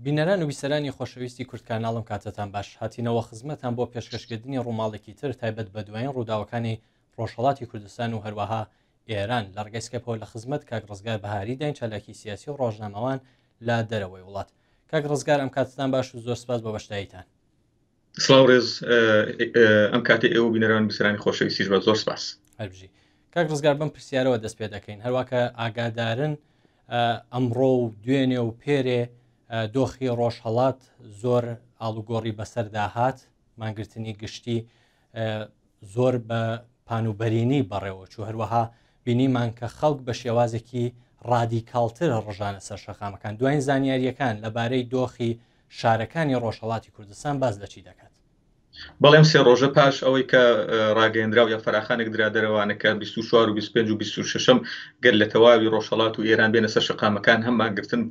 بینەران و بیسەرانی خۆشەویستی کوردکاناڵ ئەم کاتەتان باش هاتینەوە خزمەتان بۆ پێشکەشکردنی ڕووماڵێکی تر تایبەت بە دوایین ڕووداوەکانی ڕۆژهەڵاتی کوردستان و هەروەها ئێران لە ڕگەی سکەپەوە لە خزمەت کاک ڕزگار بەهاری داین چالاکی سیاسی و ڕۆژنامەوان لە دەرەوەی وڵات کاک ڕزگار ئەم کاتتان باش و زۆر سپاس بۆ بەشداریتان. سڵاو ڕێز ئەم کاتی ئێوە بینەران بیسەرانی خۆشەویستیش بە زۆر سپاس. هەربژی کاک ڕزگار بەم پرسیارەوە دەست پێ دەکەین هەرواکە ئاگادارن ئەمڕۆ و دوێنێ و پێرێ دۆخی ڕۆژهەڵات زۆر ئاڵوگۆڕی بەسەردا هات مانگرتنی گشتی زۆر بە پانوبەرینی بەڕێوە چوو هەروەها بینیمان کە خەڵک بە شێوازێکی ڕادیکاڵتر ڕژانە سەر شەقامەکان دوایین زانیاریەکان لەبارەی دۆخی شارەکانی ڕۆژهەڵاتی کوردستان باس لە چی دەکات؟ بەڵێ ئەم سێ ڕۆژە پاش ئەوەی کە ڕاگەیەندراو یا فەراخانێک درا دەرەوانە کە 24 و 25 و 26 گەر لە تەواوی ڕۆژهەڵات و ئێران بێنە سەر شەقامەکان هەم مانگرتن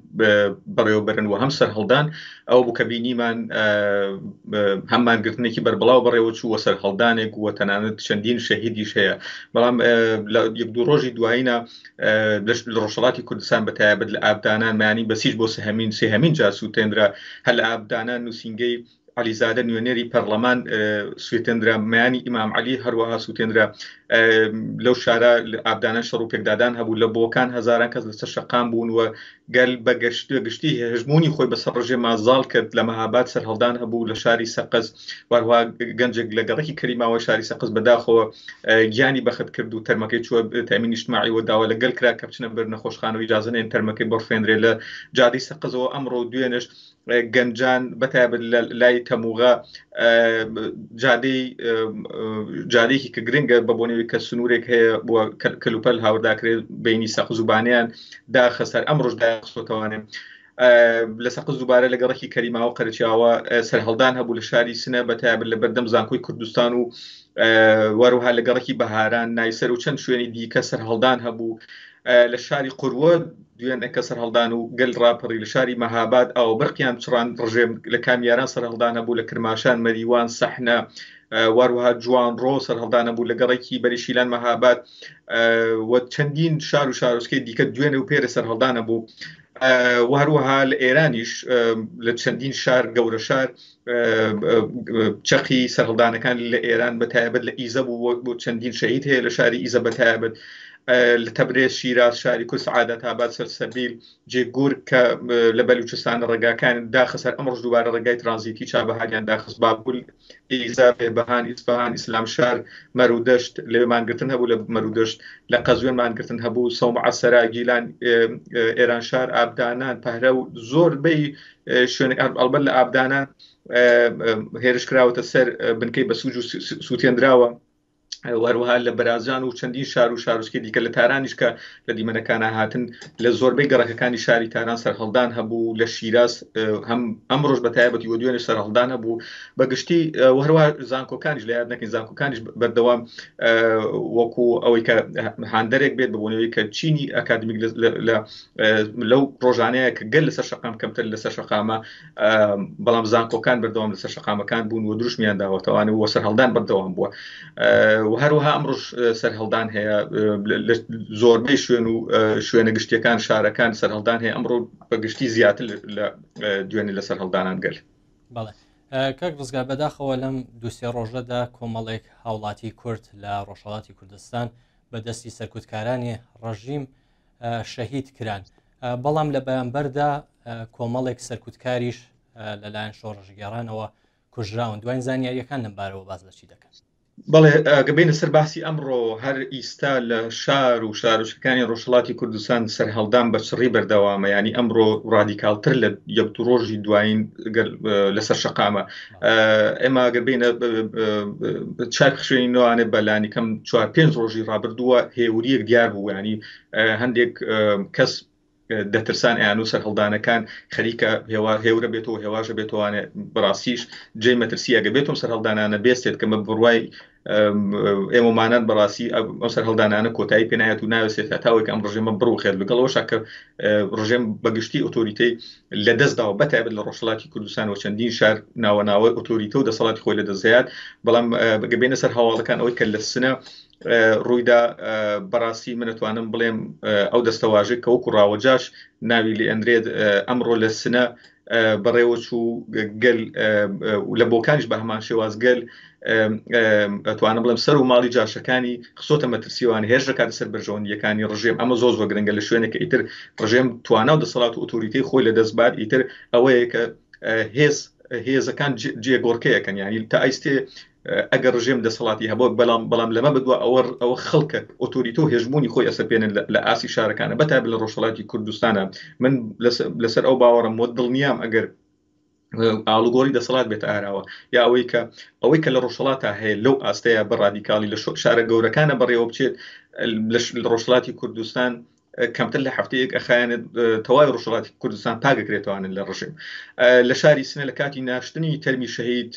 بەڕێوەبەرن و هەم سەرهەڵدان ئەو بوو کە بینیمان هەم مانگرتنێکی بەربڵاو بەڕێوە چوو و سەرهەڵدانێک و تەنانەت چەندین شەهیدیش هەیە بەڵام لە یەک دوو ڕۆژی دوایینە لە ڕۆژهەڵاتی کوردستان بە تایبەت لە ئابدانان مانی بەسیج بۆ سهمین سێهەمین جار سووتێنرا هەر لە ئابدانان نووسینگەی عەلیزادە نوێنەری پەرلەمان سوێتێنرا مەیانی ئیمام عەلی هەروەها سووتێنرا لەو شارە ئابدانە شەڕ و پێکدادان هەبوو لە بۆکان هەزاران کەس لەسەر شەقام بوون و گەل بە گشتی هەژموونی خۆی بەسەر ڕژێما زاڵ کرد لە مەهاباد سەرهەڵدان هەبوو لە شاری سەقز وەروها گەنجێک لە گەڕەکی کەریماوە شاری سەقز بەداخەوە گیانی بەخت کرد و تەرمەکەی چووە تەمین نیشتماعی و داوا لە گەل کرا کە بچنە بەر نەخۆشخانە و ئیجازە نەیەن تەرمەکەی بڕفێنرێ لە جادەی سەقزەوە ئەمڕۆ و دوێنێش گەنجان بەتایبەت لە لای تەموغە جادەی جادێکی کە گرنگە بە بۆنەوەی کە سنوورێک هەیە بۆ کەلوپەل هاورداکرێت بینی سەقز و بانیان داخە سەر ئەمڕۆژ داخستۆتەوانێ لە سەقز دووبارە لە گەڕەکی کەریماوە قەرچیاوە سەرهەڵدان هەبوو لە شاری سنە بە تایبەت لە بەردەم زانکۆی کوردستان و وەروها لە گەڕەکی بەهاران نایسەر و چەند شوێنی دیکە سەرهەڵدان هەبوو لە شاری قوروە دوێنێکە سەرهەڵدان و گەل ڕاپەڕی لە شاری مەهاباد ئاوبرقیان چڕان ڕژێم لە کامیاران سەرهەڵدان هەبوو لە کرماشان مەریوان سەحنە واروها جوانڕۆ سەرهەڵدان هەبوو لە گەڕەکی بەریشیلان مەهاباد و چەندین شار و شارۆچکەی دیکە دوێنێ و پێرە سەرهەڵدان هەبوو و هەروەها لە ئێرانیش لە چەندین شار گەورە شار چەقی سەرهەڵدانەکان لە ئێران بە تایبەت لە ئیزە بوو بۆ چەندین شەهید هەیە لە شاری ئیزە بە تایبەت لە تەبرێز شیراز شاری کورد سعادەت ئاباد سەرسەبیل جێگور کە لە بەلوچستان ڕێگاکان داخە سەر ئەمڕۆژ دووبارە ڕێگای ترانزیتی چابەهاریان داخست بابل ئیزا بێبەهان ئیسفەهان ئیسلام شار مەرودەشت لەوێ مانگرتن هەبوو لە مەرودەشت لە قەزوێن مانگرتن هەبوو سەومعە سەرا گیلان ئێران شار ئابدانان پەهرە و زۆربەی شوێنێک ئەڵبەت لە ئابدانان هێرش کراوەتە سەر بنکەی بەسوج و سووتێنراوە وەروەها لە بەرازجان و چەندین شار و شارۆچکەی دیکە لە تارانیش کە لە دیمەنەکانە هاتن لە زۆربەی گەڕەکەکانی شاری تاران سەرهەڵدان هەبوو لە شیراز هەم ئەمڕۆژ بە تایبەتی و دوێنێ سەرهەڵدان هەبوو بە گشتی وهروە زانکۆکانیش لە یاد نەکەین زانکۆکانیش بەردەوام وەکو ئەوەی کە هاندەرێک بێت بەبوونەوەی کە چینی ئەکادمیک لە لەو ڕۆژانەیە کە گەل لەسەر شەقام کەمتر لەسەر شەقامە بەڵام زانکۆکان بەردەوام لەسەر شەقامەکان بوون و دروشمیان داوەتەوانە و سەرهەڵدان بەردەوام بووە و هەروەها ئەمڕۆژ سەرهەڵدان هەیە لە زۆربەی شوێن و شوێنە گشتیەکان شارەکان سەرهەڵدان هەیە ئەمڕۆ بە گشتی زیاتر لە دوێنێ لە سەرهەڵدانان گەل. بەڵێ کاک ڕزگار بەداخەوە لەم دووسێ ڕۆژەدا کۆمەڵێک هاوڵاتی کورد لە ڕۆژهەڵاتی کوردستان بە دەستی سەرکوتکارانی ڕژیم شەهید کران بەڵام لە بەرامبەردا کۆمەڵێک سەرکوتکاریش لەلایەن شۆڕشگێڕانەوە کوژراون دواین زانیاریەکان لەم بارەوە باز لە چی دەکەن؟ بەڵێ گە بینە سەر باسی ئەمڕۆ هەر ئیستا لە شار و شارۆچکەکانی ڕۆژهڵاتی کوردستان سەرهەڵدان بە چڕی بەردەوامە ینی ئەمڕۆ ڕادیکالتر لە یەک دو ڕۆژی دوایین لەسەر شەقامە ئێمە گەر بینە چاک خوێنینەوانێ بەلانی کەم چوار پێنج ڕۆژی ڕابردووە هێوریەک دیار بوو ینی هەندێک کەس دەترسان ئەیان و سەرهەڵدانەکان خەریکە هێوا هێورە بێتەوە هێواشە بێتوانێ بەڕاستیش جێ مەترسیە گە بێتم سەرهەڵدانانە بێستێت کە مە بڕوای ئێمەمانان بەڕاستی ئەو سەرهەڵدانانە کۆتایی پێنایەت و ناوێت هەتاوێک ئەم ڕژێمە بڕوخێت لەگەڵەوە شکە ڕژێم بەگشتی ئۆتۆریتەی لە دەستداوە بەتایبەت لە ڕۆژهەڵاتی کوردستان و چەندین شار ناوەناوە ئۆتۆریتە و دەسەڵاتی خۆی لە دەستدەیات بەڵام گەبێنە سەر هەواڵەکان ئەوەی کە لە سنە. ڕوویدا بەڕاستی من ئەتوانم بڵێم ئەو دەستەواژەی کە وەکو ڕاوەجاش ناوی لێ ئەنرێت ئەمڕۆ لە سنە بەڕێوە چوو گەل لە بۆکانیش بە هەمان شێواز گەل ئەتوانم بڵێم سەر و ماڵی جاشەکانی خسۆتە مەترسیوان هێرش دەکاتە سەر بەرژەوەندیەکانی ڕژێم ئەمە زۆر زۆر گرنگە لە شوێنێک ئیتر ڕژێم توانا و دەسەڵات و ئۆتۆریتەی خۆی لە دەست بات ئیتر ئەوەیە کە هێز هێزەکان جێگۆڕکەیەکەن یعنی تا ئایستێ ئەگەر ڕژێم دەسەڵاتی هەبوو بەڵام بەڵام لەمە بەدوا ئەوە ئەوە خەڵکە ئۆتۆریتە و هێژموونی خۆی ئەسەپێنن لە ئاستی شارەکانە بەتایبەت لە ڕۆژهەڵاتی کوردستانە من لەسەر ئەو باوەڕم وە دڵنیام ئەگەر ئاڵوگۆڕی دەسەڵات بێتە ئاراوە یا ئەوەی کە ئەوەی کە لە ڕۆژهەڵاتا هەیە لەو ئاستەیە بە ڕادیکاڵی لە شارە گەورەکانە بەڕێوە بچێت لە ڕۆژهەڵاتی کوردستان کەمتر لە هەفتەیەک ئەخایەنێت تەواوی ڕۆژهەڵاتی کوردستان پاکەکرێتوانن لە ڕژێم لە شاری سنە لە کاتی ناشتنی تەرمی شەهید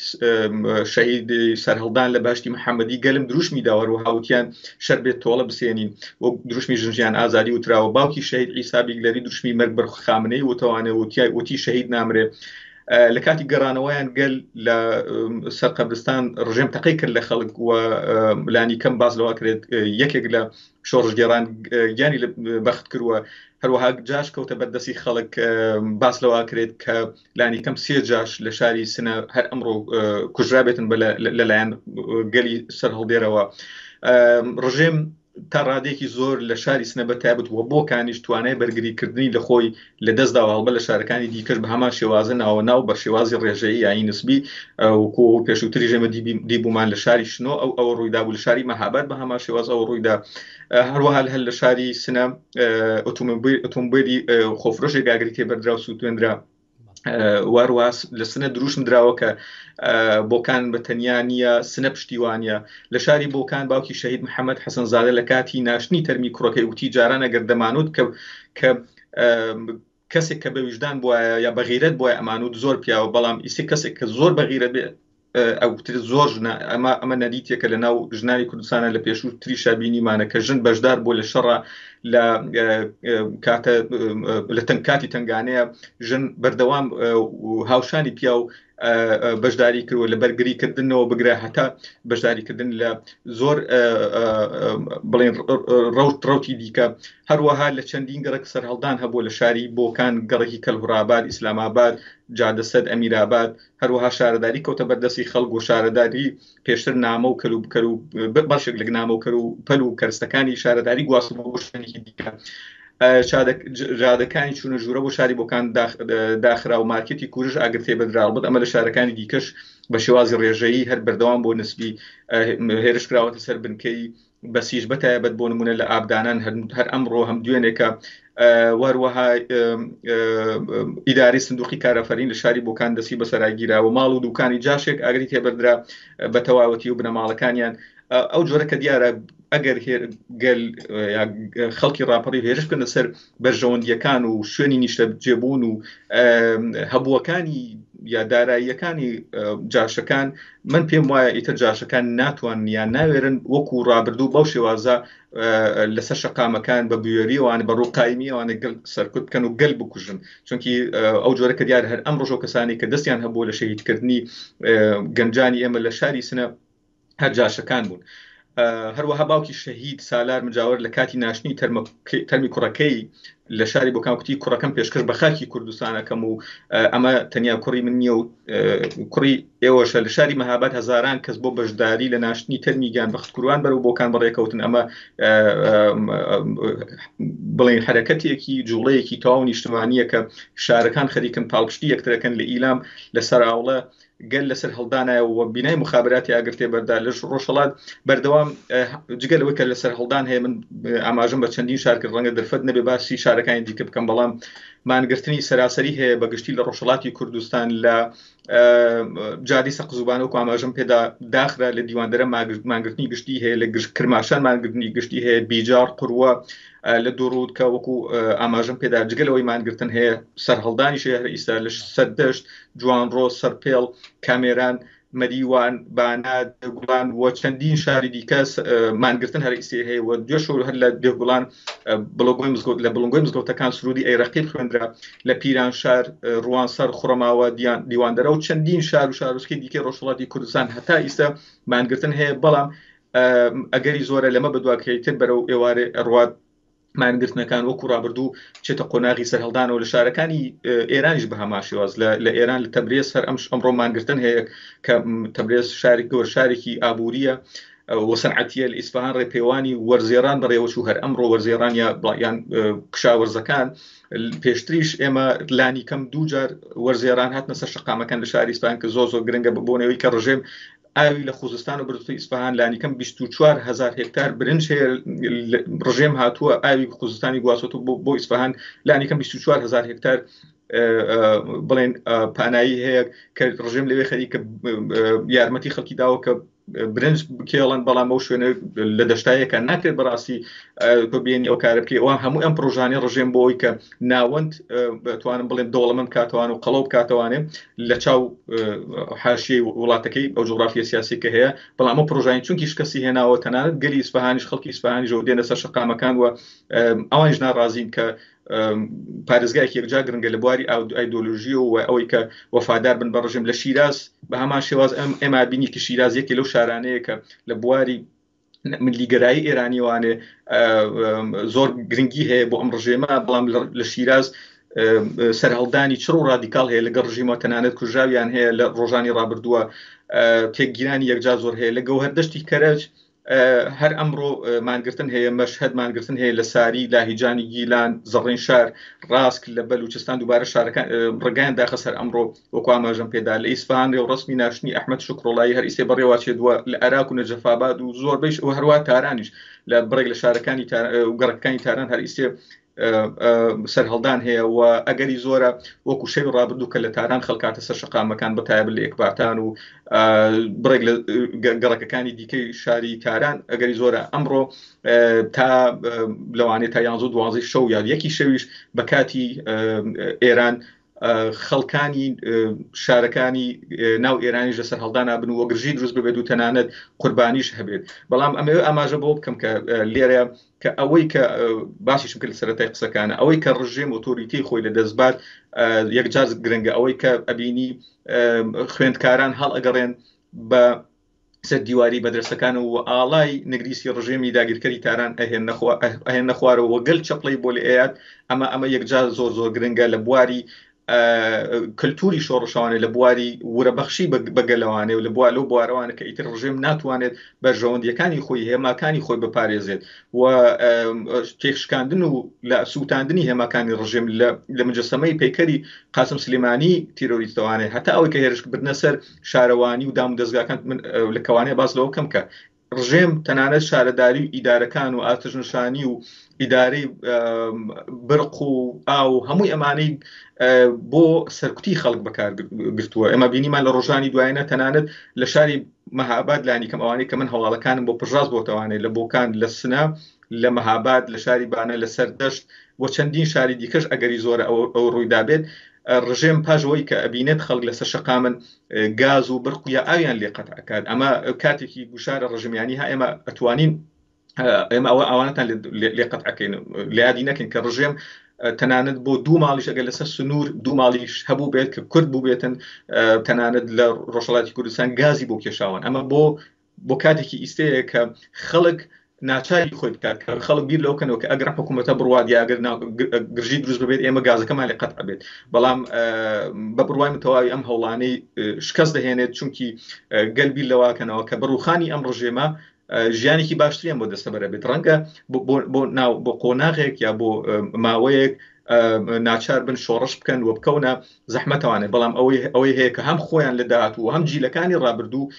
شەهید سەرهەڵدان لە باشتی محەممەدی گەلم دروشمی داوەر و هاوتیان شەر بێت تۆڵە بسێنین و دروشمی ژنژیان ئازادی وتراوە باوکی شەهید عیسا بیگلەری دروشمی مەرگ بەر خامنەی وتوانێ وتیای وتی شەهید نامرێ لە کاتی گەڕانەوەیان گەل لە سەر قەبرستان ڕژێم تەقەی کرد لە خەڵک و لانی کەم باز لەوە کرێت یەکێک لە شۆڕشگێڕان گیانی بەخت کردووە هەروەها جاش کەوتە بەردەستی خەڵک باس لەوە کرێت کە لانی کەم سێ جاش لە شاری سنە هەر ئەمڕۆ کوژرابێتن بە لەلایەن گەلی سەرهەڵدێرەوە ڕژێم تا ڕادێکی زۆر لە شاری سنە بە تایبەت وە بۆکانیش توانای بەرگریکردنی لە خۆی لە دەستداوە هەڵبەت لە شارەکانی دیکەش بە هەمان شێوازە ناوە ناو بە شێوازی ڕێژەیی یانی نسبی وەکو پێشووتریش ئێمە دیبوومان لە شاری شنۆ ئەو ئەوە ڕوویدا بوو لە شاری مەهاباد بە هەمان شێواز ئەوە ڕوویدا هەروەها هەر لە شاری سنە ئۆتۆمبیلی خۆفرۆشێک ئاگری تێبەردرا و سووتێنرا واروە لە سنە دروشم دراوە کە بۆکان بە تەنیا نییە سنە پشتیوانە لە شاری بۆکان باوکی شەهید محەممەد حەسەنزادە لە کاتی ناشتنی تەرمی کوڕەکەی وتی جاران ئەگەر دەمانوت کە کە کەسێک کە بە ویژدان بواە یا بەغیرەت بۆیە ئەمانوت زۆر پیاوە بەڵام ئیسێ کەسێک کە زۆر بەغیرەت بێ ئەوتر زۆر ژنە ئەمە ئەمە نەریتێکە لە ناو ژنانی کوردستانە لە پێشوو تریشا بینیمانە کە ژن بەشدار بوو لە شەڕە لە کاتە لە تەنگ کاتی تنگانەیە ژن بەردەوام هاوشانی پیاو بەشداری کردوە لە بەرگری کردنەوە بگرە هەتا بەشداریکردن لە زۆر بڵێن ڕەوت ڕوتی دیکە هەروەها لە چەندین گەڕک سەرهەڵدان هەبوو لە شاری بۆکان گەڕکی کەلهڕاباد ئیسلاماباد جادەسەد ئەمیراباد هەروەها شارەداری کەوتە بەردەستی خەڵک و شارەداری پێشتر نامە و کەل و بکەر و بەشێک لە نامە و کەر و پەل و کەرستەکانی شارەداری گواستەوە بۆ شوێنێکی دیکە. جادەکانی چوونە ژوورە بۆ شاری بۆکان داخرا و مارکێتی کورش ئاگر تێبەردرا بوو ئەمە لە شارەکانی دیکەش بە شێوازی ڕێژەیی هەر بەردەوام بۆ نسبی هێرش کراوەتە سەر بنکەی بەسیج بەتایبەت بۆ نمونە لە ئابدانان هەر ئەمڕۆ هەم دوێنێکە وەروەها ئیداری سندوقی کارەفەرین لە شاری بۆکان دەستی بەسەراگیراوە ماڵ و دوکانی جاشێک ئاگری تێبەردرا بە تەواوەتی و بنەماڵەکانیان ئەو جۆرە کە دیارە ئەگەر گەل خەڵکی ڕاپەڕی هێرش بکەنە سەر بەرژەوەندیەکان و شوێنی نیشتەجێبوون و هەبووەکانی یا داراییەکانی جاشەکان من پێم وایە ئیتر جاشەکان ناتوان یان ناوێرن وەکو ڕابردوو بەو شێوازە لەسەر شەقامەکان بە بوێریەوان بە ڕووقایمیەوانە گەل سەرکوت بکەن و گەل بکوژن چونکی ئەو جۆرە کە دیار هەر ئەم ڕۆژە کەسانی کە دەستیان هەبوو لە شەهیدکردنی گەنجانی ئێمە لە شاری سنە هەر جاشەکان بوون. هەروەها باوکی شەهید سالار مجاوەر لە کاتی ناشتنی تەرمی کوڕەکەی لە شاری بۆکان کوتی کوڕەکەم پێشکەش بە خاکی کوردستانەکەم و ئەمە تەنیا کوڕی من نییە و کوڕی ئێوەشە لە شاری مەهاباد هەزاران کەس بۆ بەشداری لە ناشتنی تەرمی گیان بەختکروان بەرەو بۆکان بەڕێکەوتن ئەمە بڵێن حرەکەتێکی جوڵەیەکی تەواو نیشتمانیە کە شارەکان خەریکن پاڵپشتی یەکترەکەن لە ئیلام لە سەراوڵە گەل لەسەر هەڵدانایە و بینای مخابراتی ئاگر تێبەردا لە ڕۆژهەڵات بەردەوام جگە لەوەی کە لەسەر هەڵدان هەیە من ئاماژەم بە چەندین شار کرد ڕەنگە دەرفەت نەبێ باسی شارەکانی دیکە بکەم بەڵام مانگرتنی سەراسەری هەیە بە گشتی لە ڕۆژهەڵاتی کوردستان لە جادی سەقزوبانە و ئاماژەم پێدا داخرا لە دیواندەرە مانگرتنی گشتی هەیە لە گشت کرماشان مانگرتنی گشتی هەیە بیجار قوروە لە دوڕوود کە وەکو ئاماژەم پێدا جگە لەوەی مانگرتن هەیە سەرهەڵدانیش هەیە هەر ئیستا لە سەردەشت جوانڕۆ، سەرپێڵ، کامێران، مەریوان، بانە، دێگوڵان و چەندین شاری دیکە مانگرتن هەر ئیسێ هەیە و دوێ شەو هەر لە دێگوڵان بڵنگۆی مزگەوت لە بڵنگۆی مزگەوتەکان سرودی ئەی ڕەقیب خوێندرا لە پیرانشار، ڕوانسەر، خوڕەماوە، دیواندەرە و چەندین شار و شارۆچکەی دیکەی ڕۆژهەڵاتی کوردستان هەتا ئیستا مانگرتن هەیە بەڵام. ئەگەری زۆرە لەمە بەدواکەیتر بەرەو ئێوارێ ئەڕوات مانگرتنەکان وەکو ڕابردوو بچێتە قۆناغی سەرهەڵدانەوە لە شارەکانی ئێرانیش بە هەمان شێواز لە ئێران لە تەبرێز هەر ئەم ئەمڕۆ مانگرتن هەیە کە تەبرێز شاری گەور شارێکی ئابووریە و سەنعەتیە لە ئیسفهان ڕێپێوانی وەرزێران بەڕێوەچوو هەر ئەمڕۆ وەرزێران یا یان کشاوەرزەکان پێشتریش ئێمە لانی کەم دوو جار وەرزێران هاتنە سەر شەقامەکان لە شاری ئیسفهان کە زۆر زۆر گرنگە بە بۆنەوەی کە ڕژێم ئاوی لە خوزستان و بردوتە ئیسفهان لانیکەم 24 هزار هێکتار برنج هەیە، ڕژێم هاتووە ئاوی خوزستانی گواستوە بۆ ئیسفهان، لانیکەم 24 هزار هێکتار بڵێن پانایی هەیە کە ڕژێم لەوێ خەریکە یارمەتی خەڵکی داوە کە برنج بکێڵن، بەڵام ئەو شوێنە لە دەشتایەکە ناکرێت بەڕاستی تۆ بێنی ئەو کارە بکەی. ئەوان هەموو ئەم پرۆژانەی ڕژێم بۆ ئەوی کە ناوەند بتوانم بڵێم دەوڵەمەند کاتوان و قەڵەو بکاتوانێ لە چاو حاشیەی وڵاتەکەی ئەو جوگرافیە سیاسی کە هەیە، بەڵام ئەو پرۆژانی چونکی شکستی هێناوە، تەنانەت گەلی ئیسفهانیش خەڵکی ئیسفهانیش دێنە سەر شەقامەکان و ئەوانیش ناڕازین کە پارێزگایەکی یەکجار گرنگە لە بواری ئایدۆلۆژی و ئەوەی کە وەفادار بن بە ڕژێم. لە شیراز بە هەمان شێواز ئەم ئێمە بینی کە شیراز یەکێ لەو شارانەیە کە لە بواری ملیگەرایی ئێرانیوانێ زۆر گرنگی هەیە بۆ ئەم ڕژێمە، بەڵام لە شیراز سەرهەڵدانی چڕ و ڕادیکاڵ هەیە لەگەڵ ڕژیمەوە، تەنانەت کوژراویان هەیە لە ڕۆژانی ڕابردووە، تێکگیرانی یەکجار زۆر هەیە. لە گەوهەردەشتی کەرەج هەر ئەمڕۆ مانگرتن هەیە، مەشهەد مانگرتن هەیە، لە ساری، لاهیجانی گیلان، زەڕین شار، ڕاسک لە بەلوچستان دووبارە شارەکان ڕێگایان داخە سەر ئەمڕۆ وەکو ئاماژەم پێدا. لە ئیسفهان ڕێوڕەسمی ناشتنی ئەحمەد شوکرۆڵایی هەر ئیسێ بەڕێوە چێت لە ئەراک و نەجەفاباد و زۆربەیش و هەروە تارانیش لە بڕێک لە شارەکانی گەڕەکەکانی تاران هەر ئیسێ سەرهەڵدان هەیە و ئەگەری زۆرە وەکو شەوی ڕابردوو کە لە تاران خەڵکاتە سەر شەقامەکان بە تایبەت لە ئێکباتان و بڕێک لە گەڕەکەکانی دیکەی شاری تاران، ئەگەری زۆرە ئەمڕۆ تا لەوانەیە تا یانزە و دوازدەی شەو یا یەکی شەویش بە کاتی ئێران خەڵکانی شارەکانی ناو ئێرانیش لە سەرهەڵدانا بن و گرژی دروست ببێت و تەنانەت قوربانیش هەبێت. بەڵام ئەمەوێ ئاماژە بۆ بکەم کە لێرە کە ئەوەی کە باسیشم کرد لە سەرەتای قسەکانە، ئەوەی کە ڕژێم ئۆتۆریتی خۆی لە دەستبات یەکجار گرنگە. ئەوەی کە ئەبینی خوێندکاران هەڵ ئەگەڕێن بە سەر دیواری مەدرەسەکان و ئاڵای نگریسی ڕژێمی داگیرکەری تاران ئەهێنە خوارەوە و گەل چەپڵەی بۆ لێ ئەیات، ئەمە یەکجار زۆر زۆر گرنگە لە بواری کللتوری شۆڕشەوانێ، لە بواری ورەبەخشی بە گەلەوانێ و لە بوار لەو بوارەوانە کە ئیتر ڕژێم ناتوانێت بەرژەوەندیەکانی خۆی هێماکانی خۆی بپارێزێت و تێکشکاندن و لە سووتاندنی هێماکانی ڕژێم لە مجەسەمەی پەیکەری قاسم سلێمانی تیرۆریستەوانێ هەتا ئەوەی کە هێرش بردنە سەر شارەوانی و دام و دەزگاکان. من لە کەوانەیە باس لەوە بکەم کە ڕژێم تەنانەت شارەداری و ئیدارەکان و ئاتشنشانی و ئیدارەی برق و ئاو هەمووی ئەمانەی بۆ سەرکوتی خەڵک بەکارگرتووە. ئێمە بینیمان لە ڕۆژانی دوایینە تەنانەت لە شاری مەهاباد لانی کەم ئەوانەی کە من هەواڵەکانم بۆ پژاست بۆتەوانێ، لە بۆکان، لە سنە، لە مەهاباد، لە شاری بانە، لە سەردەشت و چەندین شاری دیکەش ئەگەری زۆرە ئەو ڕوویدابێت. ڕژێم پاش ئەوەی کە ئەبینێت خەڵک لەسەر شەقامن گاز و برق یا ئاویان لێ قەتع ئەکات. ئەمە کاتێکی گوشارە ڕژێمیانی ها ئێمە ئەتوانین ئێمە ئەوە ئەوانەتان لێ قەتع ئەکەین. لە یادی نەکەین کە ڕژێم تەنانەت بۆ دوو ماڵیش ئەگەر لەسەر سنوور دوو ماڵیش هەبوو بێت کە کورد بوو بێتن تەنانەت لە ڕۆژهەڵاتی کوردستان گازی بۆ کێشاون. ئەمە بۆ کاتێکی ئیستەیە کە خەڵک ناچاری خۆی بکات، کە خەڵک بیر لەوە کەنەوە کە ئەگەر حکوومەتە بڕوات یا ئەگەر گرژی دروست ببێت ئێمە گازەکەمان لێ قەتع بێت. بەڵام بە بڕوای من تەواوی ئەم هەوڵانەی شکست دەهێنێت، چونکی گەل بیر لەواکەنەوە کە بڕوخانی ئەم ڕژێمە ژیانێکی باشتریان بۆ دەستەبەرە بێت. ڕەنگە بۆ ناو بۆ قۆناغێک یا بۆ ماوەیەک ناچار بن شۆڕش بکەن و بکەونە زەحمەتەوانێ، بەڵام ئەوەی هەیە کە هەم خۆیان لە داهاتوو و هەم جیلەکانی ڕابردوو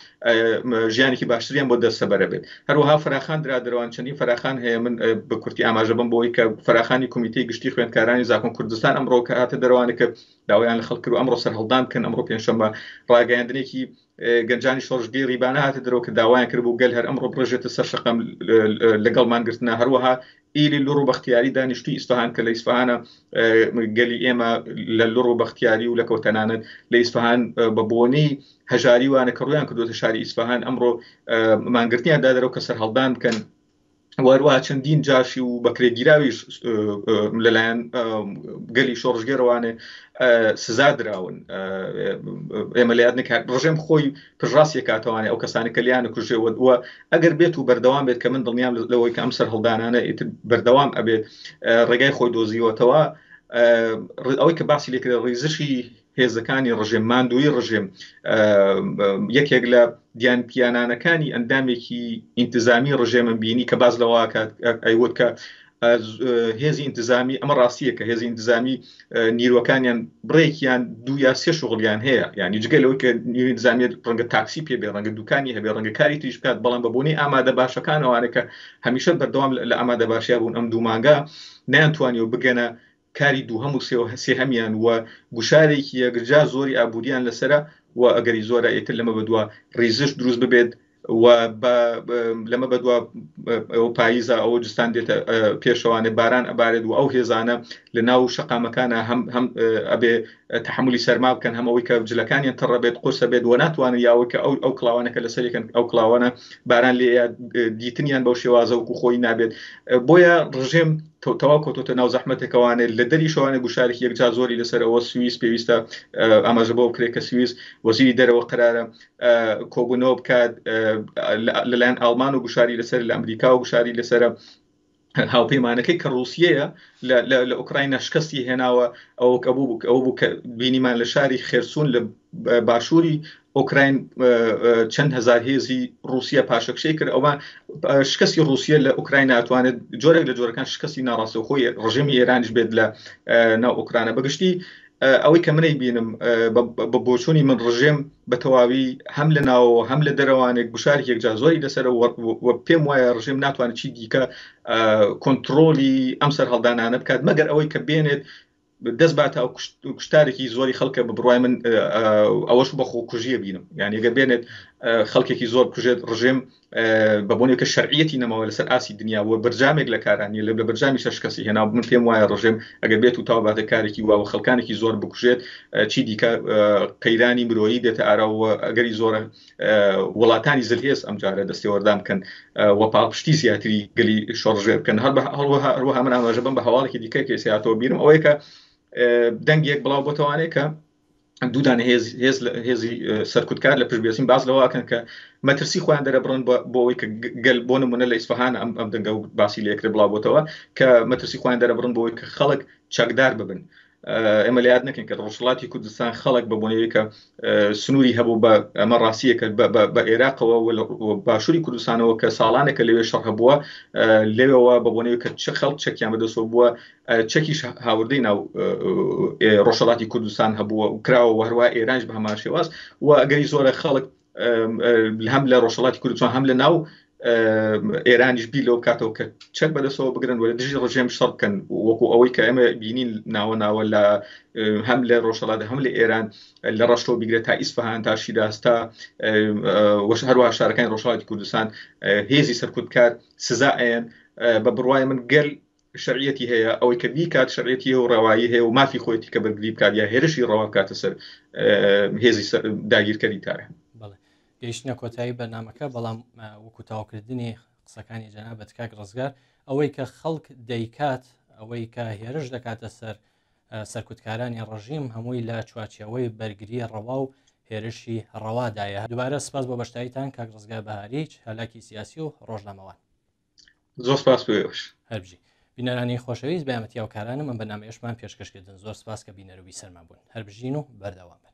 ژیانێکی باشتریان بۆ دەستەبەرە بێت. هەروەها فراخان درا دەروان چەندین فراخان هەیە. من بە کورتی ئاماژە بم بۆی کە فراخانی کۆمیتەی گشتی خوێندکارانی زاکۆن کوردستان ئەمڕۆ کە هاتە دەروانە کە داوایان لە خەڵک کرد ئەمڕۆ سەرهەڵدان بکەن. ئەمڕۆ پێنجشەممە ڕاگەیاندنێکی گەنجانی شۆڕشگێڕی بانە هاتە دەرەوە کە داوایان کردبوو گەل هەر ئەمڕۆ بڕژێتە سەر شەقام لەگەڵ مانگرتنە. هەروەها ئیلی لوڕ و بەختیاری دانیشتوی ئیسفهان کە لە ئیسفهانە گەلی ئێمە لە لوڕ و بەختیاری و لە کەوتەنانەت لە ئیسفهان بە بۆنەی هەژاری وانە کە ڕویان کردوتە شاری ئیسفهان ئەمڕۆ مانگرتنیان دادەرەوە کە سەرهەڵدان بکەن. وەروە چەندین جاشی و بەکرێگیراویش لەلایەن گەلی شۆڕشگێرەوانێ سزا دراون. ئێمە لە یاد نکات ڕژێم خۆی پشڕاستی کاتەوانێ ئەو کەسانی کە لیان کوژێ و ئەگەر بێت و بەردەوام بێت کە من دڵنیام لەوەی کە ئەم سەرهەڵدانانە ئیتر بەردەوام ئەبێت، ڕێگای خۆی دۆزیوەتەوە. ئەوەی کە باسی لێکرێت ڕیزشی هێزەکانی ڕژێم، ماندووی ڕژێم، یەکێک لە دیان پیانانەکانی ئەندامێکی ئینتزامی ڕژێمم بینی کە باز لەوە ئەیوت کە هێزی ئینتزامی، ئەمە ڕاستیە کە هێزی ئینتزامی نیروەکانیان بڕێکیان دوو یا سێ شغڵیان هەیە، یعنی جگە لەوەی کە نیروی ئینتزامی ڕەنگە تاکسی پێ بێ، ڕەنگە دوکانی هەبێ، ڕەنگە کاری تریش بکات، بەڵام بە بۆنەی ئامادە باشەکانەوانە کە هەمیشە بەردەوام لە ئامادە باشیا بوون، ئەم دوو مانگە نەیانتوانیوە بگەنە کاری دووهەم و سێهەمیان و گوشارێکی یەکجار زۆری ئابووریان لەسرە و ئەگەری زۆرە ئیتر لەمە بەدوا ڕیزش دروست ببێت و لەمە بەدوا ئەو پاییزە ئەوە جستان دێتە پێشەوانێ، باران ئەبارێت و ئەو هێزانە لە ناو شەقامەکانە هەم هەم ئەبێ تەحملی سەرما بکەن، هەم ئەوەی کە جلەکانیان تەڕە بێت، قورسە بێت و ناتوانن، یاوەی کە ئەو ئەو کڵاوانە کە لەسەرێکن ئەو کڵاوانە باران لێ دیتنیان بەو شێوازە وەکو خۆی نابێت. بۆیە ڕژێم تەواو کەوتۆتە ناو زەحمەتێکەوانێ، لە دەریشەوانێ گوشارێکی یەکجار زۆری لەسەرەوە. سوئیس پێویستە ئاماژە بۆ بکرێت کە سوئیس وەزیری دەرەوە قەرارە کۆبوونەوە بکات لەلایەن ئاڵمان و گوشاری لەسەر، لە ئەمریکا و گوشاری لەسرە، هاوپەیمانەکەی کە ڕووسیەیە لە ئۆکراینا شکستی هێناوە. ئەوە کە بوو ئەوە بوو کە بینیمان لە شاری خێرسون لە باشووری ئۆکراین چەند هزار هێزی رووسیا پاشەکشەی کرد. ئەوە شکستی رووسیە لە ئۆکراین ناتوانێت جۆرێک لە جۆرەکان شکستی ناڕاستەوخۆی ڕژێمی ئێرانیش بێت لە ناو ئۆکرانە. بەگشتی ئەوەی کە منەی بینم، بە بۆچوونی من، ڕژێم بە تەواوی هەم لە ناوەوە هەم لە دەرەوانێک گوشارێک یەکجار زۆری لەسەر و پێم وایە ڕژێم ناتوانێت چی دیکە کۆنتترۆلی ئەم سەرهەڵدانانە بکات، مەگەر ئەوەی کە بێنێت دەست باتە ئەو کوشتارێکی زۆری خەڵکە. بە بڕای من ئەوەش بە خۆکوژیە بینم، یعنی گەر بێنێت خەڵکێکی زۆر بکوژێت، ڕژێم بە بۆنێکە شەرعیەتی نەماوە لەسەر ئاسی دنیا و بەرجامێک لە کارانی لە بەرجامی شەش کەسی هێنا. من پێم وایە ڕژێم ئەگەر بێت و تاو باتە کارێکی وا و خەڵکانێکی زۆر بکوژێت، چی دیکە قەیرانی مرۆیی دێتە ئاراوە، ئەگەری زۆرە وڵاتانی زلهێز ئەمجارە دەستێوەردان بکەن و پاڵپشتی زیاتری گەلی شۆڕژێر بکەن. هەر هەروەها من ئاماژە بم بە هەواڵێکی دیکە کە سیاتەوە بیرم، ئەوەیە کە دەنگێک بڵاو بۆتەوانێت کە دوودانە هێز هێز هێزی سەرکوتکار لە پشت بێسین باز لەوەکەن کە مەترسی خۆیان دەرەبڕن بۆ ئەوەی کە گەل، بۆ نمونە لە ئیسفهان ئەم ئەم دەنگە و باسی لێکرێ بڵاو بۆتەوە، کە مەترسی خۆیان دەرەبڕن بۆ ئەوەی کە خەڵک چەکدار ببن. ئێمە لە یاد نەکەین کە ڕۆژهەڵاتی کوردستان خەڵک بە بۆنەوەی کە سنووری هەبوو، بە ئەمە ڕاستیەکە، بە عێراقەوە و باشووری کوردستانەوە کە ساڵانێکە لەوێ شەڕ هەبووە، لەوێەوە بە بۆنەوەی کە چ خەڵک چەکیان بەدەستەوە بووە، چەکیش هاوردەی ناو ڕۆژهەڵاتی کوردستان هەبووە و کراوە و هەروە ئێرانش بە هەمان شێواز و ئەگەری زۆرە خەڵک هەم لە ڕۆژهەڵاتی کوردستان هەم لە ناو ئێرانیش بیر لەوە بکاتەوە کە چەک بەدەستەوە بگرن و لە دژی ڕژێم شەڕ بکەن، وەکو ئەوەی کە ئێمە بینین ناوە ناوە لە هەم لە ڕۆژهەڵات هەم لە ئێران، لە ڕەشتەوە بگرێت تا ئیسفهان تا شیراز تا هەروەها شارەکانی ڕۆژهەڵاتی کوردستان هێزی سەرکوتکار سزا ئەیەن. بە بڕوای من گەل شەرعیەتی هەیە، ئەوەی کە بیکات شەرعیەتی هەیە و ڕەوایی هەیە و مافی خۆیەتی کە بەرگری بکات یا هێرشی ڕەوا بکاتە سەر هێزی داگیرکەری تاران. بەڵێ، گەیشتنە کۆتایی بەرنامەکە، بەڵام وەکو تاوکردنی قسەکانی جەنابەت کاک ڕزگار، ئەوەی کە خەڵک دەیکات، ئەوەی کە هێرش دەکاتە سەر سەرکوتکارانی ڕژیم، هەمووی لە چوارچێوەی بەرگری ڕەوا و هێرشی ڕەوادایە. دووبارە سپاس بۆ بەشداریتان کاک ڕزگار بەهاری، چالاکی سیاسی و ڕۆژنامەوان. زۆر سپاس بۆ ئێوەش. هەربژی. بینەرانی خۆشەویست، بە یارمەتی هاوکارانم ئەم بەرنامەیەشمان پێشکەش کردن. زۆر سپاس کە بینەر و بیسەرمان بوون. هەربژین و بەردەوام بن.